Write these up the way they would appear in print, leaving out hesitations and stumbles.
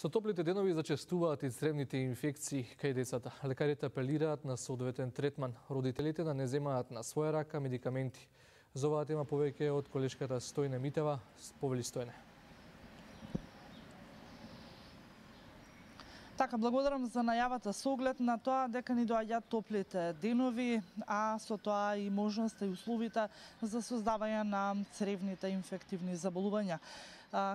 Со топлите денови зачестуваат и цревните инфекции кај децата. Лекарите апелираат на соодветен третман. Родителите да не земаат на своја рака медикаменти. За оваа тема повеќе од колешката Стојне Митева. Повели Стојне. Така, благодарам за најавата со оглед на тоа дека ни доаѓаат топлите денови, а со тоа и можноста и условите за создавање на цревните инфективни заболувања.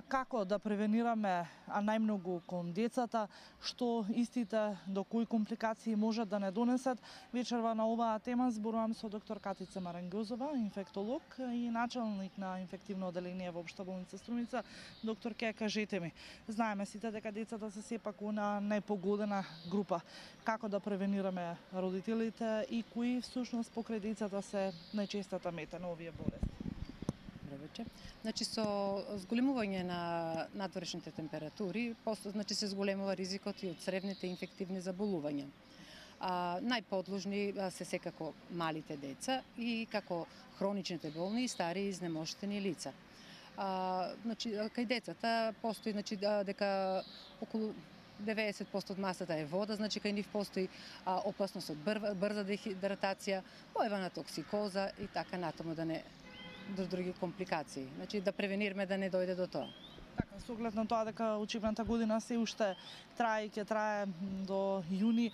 Како да превенираме, а најмногу кон децата, што истите до кои компликации можат да не донесат, вечерва на оваа тема зборувам со доктор Катица Марангјозова, инфектолог и началник на инфективно оделение во Општа болница Струмица. Доктор, ке кажете ми, знаеме сите дека децата се сепак на најпогодена група. Како да превенираме родителите и кои всушност покрај децата се најчестата мета на овие болести? Значи, со зголемување на надворешните температури, значи се зголемува ризикот и од цревните инфективни заболувања. Најподложни се секако малите деца и како хроничните болни и стари изнемоштени лица. Значи, кај децата постои дека околу 90% од масата е вода, значи кај нив постои опасност од брза дехидратација, појава на токсикоза и така натаму до други компликации. Значи да превенираме да не дојде до тоа. Така, со оглед на тоа дека учебната година се уште трае и ќе трае до јуни,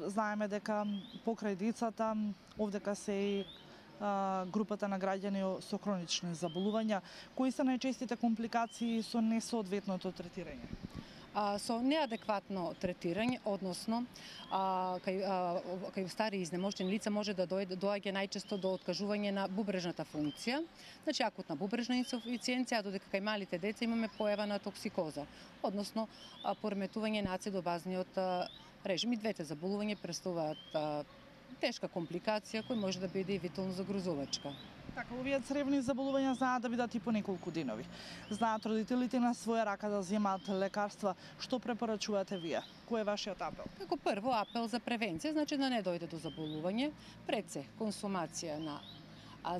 знаеме дека покрај децата овдека се и групата на граѓани со хронични заболувања. Кои се најчестите компликации со несоодветното третирање? Со неадекватно третирање, односно кај стари изнемоштени лица може да доаѓа најчесто до откажување на бубрежната функција, значи акутна бубрежна инсуфициенција, додека кај малите деца имаме појава на токсикоза, односно пореметување на ацидобазниот режим. И двете заболувања представуваат тешка компликација која може да биде и витално загрозувачка. Така, овие цревни заболувања знаат да бидат и по неколку денови. Знаат родителите на своја рака да земаат лекарства. Што препорачувате вие? Кој е вашиот апел? Како прво апел за превенција, значи да не дојде до заболување, пред се консумација на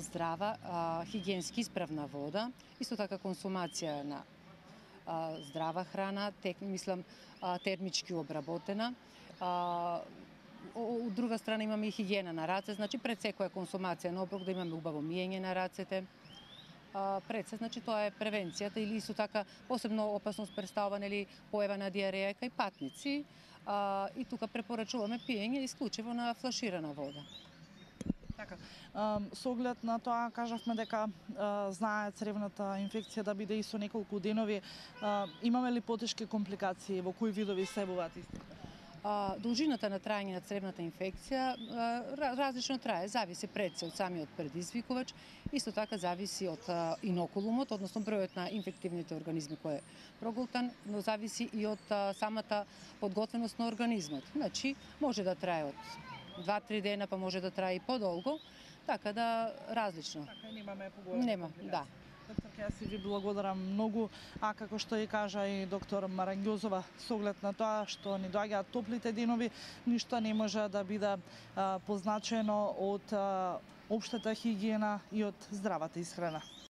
здрава, хигиенски исправна вода, исто така консумација на здрава храна, термички обработена. Од друга страна имаме и хигиена на раце, значи пред секоја консумација на оброк да имаме убаво миење на рацете. Пред се, значи тоа е превенцијата, или исто така посебно опасност представува појава на диареја кај патници, и тука препорачуваме пиење исклучиво на флаширана вода. Така, со оглед на тоа кажавме дека знае цревната инфекција да биде и со неколку денови. Имаме ли потешки компликации, во кои видови се буваат истите? Должината на траење на цревната инфекција различно трае, зависи пред се од самиот предизвикувач, исто така зависи од инокулумот, односно бројот на инфективните организми кој е прогултан, но зависи и од самата подготвеност на организмот. Значи, може да трае од 2-3 дена, па може да трае и подолго, така да различно. Така, немаме поголема компликација. Да. Доктор, ја си ви благодарам многу, а како што и кажа и доктор Марангјозова, со оглед на тоа што ни доаѓаат топлите денови, ништо не може да биде позначено од општата хигиена и од здравата исхрана.